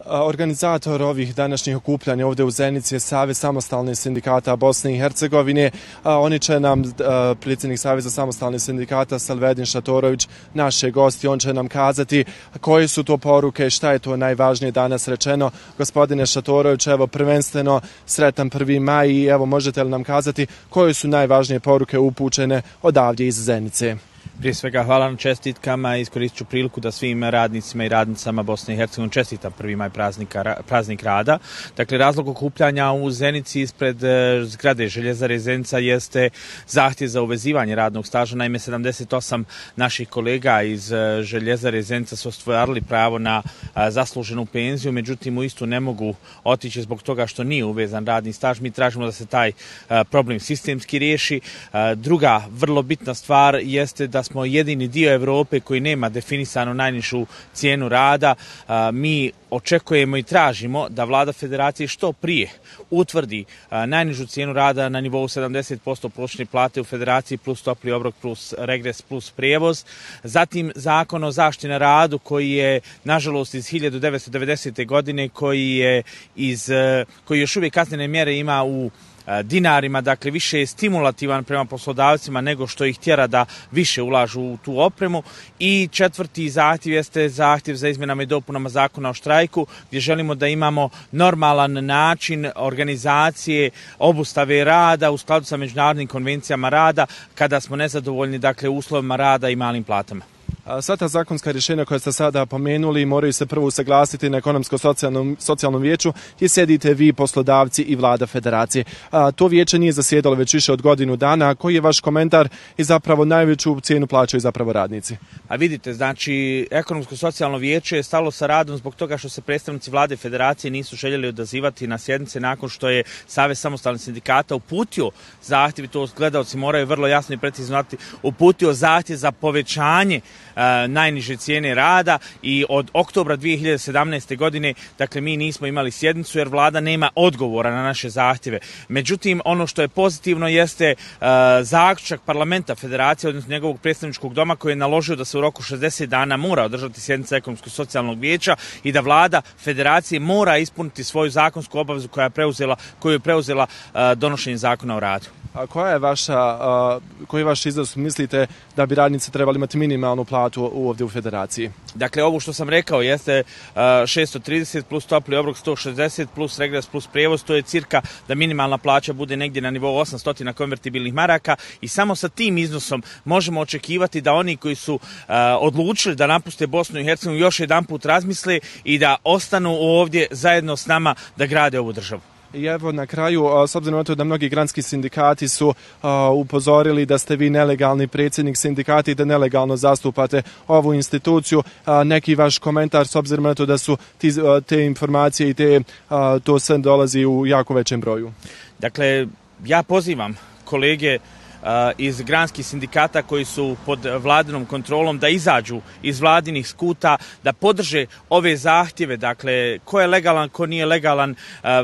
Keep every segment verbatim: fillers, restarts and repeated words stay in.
Organizator ovih današnjih okupljanja ovdje u Zenici je Savez samostalnih sindikata Bosne i Hercegovine. Oni će nam, predsjednik Saveza samostalnih sindikata Selvedin Šatorović, naše gosti, on će nam kazati koje su to poruke, šta je to najvažnije danas rečeno. Gospodine Šatorović, evo prvenstveno sretan prvi maj i evo možete li nam kazati koje su najvažnije poruke upućene odavdje iz Zenice? Prije svega hvala na čestitkama i iskoristit ću priliku da svim radnicima i radnicama Bosne i Hercegovine čestitam prvi maj praznika, praznik rada. Dakle, razlog okupljanja u Zenici ispred zgrade Željezare Zenica jeste zahtjev za uvezivanje radnog staža. Naime, sedamdeset osam naših kolega iz Željezare Zenica su ostvarili pravo na zasluženu penziju, međutim u istu ne mogu otići zbog toga što nije uvezan radni staž. Mi tražimo da se taj problem sistemski riješi. Druga vrlo bitna stvar jeste da smo jedini dio Europe koji nema definisanu najnižu cijenu rada. Mi očekujemo i tražimo da vlada federacije što prije utvrdi najnižu cijenu rada na nivou sedamdeset posto prosječne plate u federaciji plus topli obrok plus regres plus prijevoz. Zatim zakon o zaštiti na radu koji je nažalost iz hiljadu devetsto devedesete. godine koji je iz koji još uvijek kaznene mjere ima u dinarima, dakle više je stimulativan prema poslodavcima nego što ih tjera da više ulažu u tu opremu. I četvrti zahtjev jeste zahtjev za izmjenama i dopunama zakona o štrajku, gdje želimo da imamo normalan način organizacije obustave rada u skladu sa međunarodnim konvencijama rada kada smo nezadovoljni, dakle, uslovima rada i malim platama. Sva ta zakonska rješenja koja ste sada pomenuli moraju se prvo usaglasiti na ekonomsko-socijalnom socijalnom vijeću gdje sjedite vi, poslodavci i vlada federacije. A, to vijeće nije zasjedalo već više od godinu dana. Koji je vaš komentar i zapravo najveću cijenu plaćaju zapravo radnici? A vidite, znači ekonomsko-socijalno vijeće je stalo sa radom zbog toga što se predstavnici vlade federacije nisu željeli odazivati na sjednice nakon što je Savez samostalnih sindikata uputio zahtjev, i to gledaoci moraju vrlo jasno i precizno znati, uputio zahtjev za povećanje najniže cijene rada i od oktobra dvije hiljade sedamnaeste. godine, dakle, mi nismo imali sjednicu jer vlada nema odgovora na naše zahtjeve. Međutim, ono što je pozitivno jeste uh, zaključak parlamenta federacije, odnosno njegovog predstavničkog doma, koji je naložio da se u roku šezdeset dana mora održati sjednica ekonomsko-socijalnog vijeća i da vlada federacije mora ispuniti svoju zakonsku obavezu koja je preuzela, koju je preuzela uh, donošenje zakona o radu. A koja je vaša, a, koji je vaš iznos, mislite da bi radnici trebali imati minimalnu platu ovdje u federaciji? Dakle, ovo što sam rekao jeste uh, šesto trideset plus topli obrok sto šezdeset plus regres plus prijevoz, to je cirka da minimalna plaća bude negdje na nivou osamsto konvertibilnih maraka i samo sa tim iznosom možemo očekivati da oni koji su uh, odlučili da napuste Bosnu i Hercegovinu još jedan put razmisle i da ostanu ovdje zajedno s nama da grade ovu državu. I evo na kraju, s obzirom na to da mnogi granski sindikati su uh, upozorili da ste vi nelegalni predsjednik sindikata i da nelegalno zastupate ovu instituciju, uh, neki vaš komentar s obzirom na to da su ti, uh, te informacije i te, uh, to sve dolazi u jako većem broju? Dakle, ja pozivam kolege iz granskih sindikata koji su pod vladinom kontrolom da izađu iz vladinih skuta, da podrže ove zahtjeve, dakle, ko je legalan, ko nije legalan,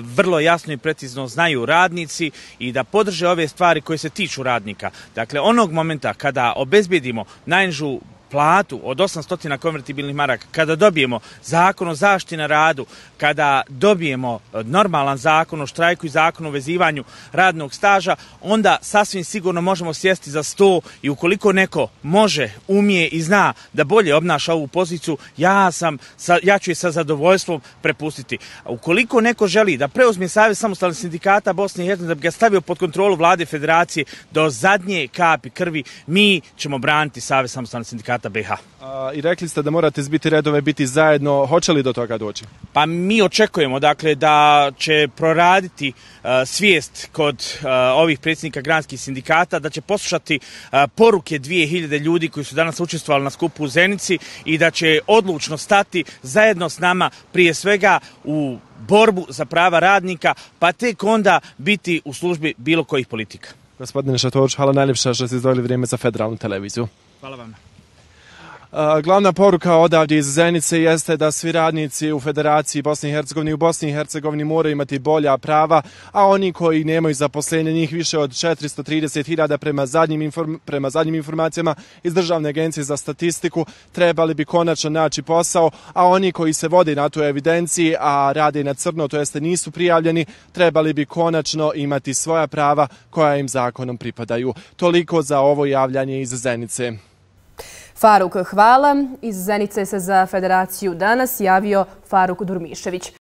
vrlo jasno i precizno znaju radnici, i da podrže ove stvari koje se tiču radnika. Dakle, onog momenta kada obezbijedimo najnižu platu od osamsto konvertibilnih maraka, kada dobijemo zakon o zaštiti na radu, kada dobijemo normalan zakon o štrajku i zakon o vezivanju radnog staža, onda sasvim sigurno možemo sjesti za sto i ukoliko neko može, umije i zna da bolje obnaša ovu poziciju, ja, sam, ja ću je sa zadovoljstvom prepustiti. Ukoliko neko želi da preuzme Savez samostalnih sindikata Bosne i Hercegovine, da bi ga stavio pod kontrolu vlade federacije do zadnje kapi krvi, mi ćemo braniti Savez samostalnih sindikata B iH. A, I rekli ste da morate zbiti redove, biti zajedno. Hoće li do toga doći? Pa mi očekujemo, dakle, da će proraditi uh, svijest kod uh, ovih predsjednika granskih sindikata, da će poslušati uh, poruke dvije hiljade ljudi koji su danas učestvovali na skupu u Zenici i da će odlučno stati zajedno s nama, prije svega u borbu za prava radnika, pa tek onda biti u službi bilo kojih politika. Gospodine Šatorović, hvala najljepša što ste izdvojili vrijeme za Federalnu televiziju. Hvala vam. Glavna poruka odavdje iz Zenice jeste da svi radnici u Federaciji Bosne i Hercegovine i u Bosni i Hercegovini moraju imati bolja prava, a oni koji nemaju zaposlenje, njih više od četiristo trideset hiljada prema zadnjim, inform, prema zadnjim informacijama iz Državne agencije za statistiku, trebali bi konačno naći posao, a oni koji se vode na tu evidenciji, a rade na crno, to jeste nisu prijavljeni, trebali bi konačno imati svoja prava koja im zakonom pripadaju. Toliko za ovo javljanje iz Zenice. Faruk, hvala. Iz Zenice se za Federaciju danas javio Faruk Durmišević.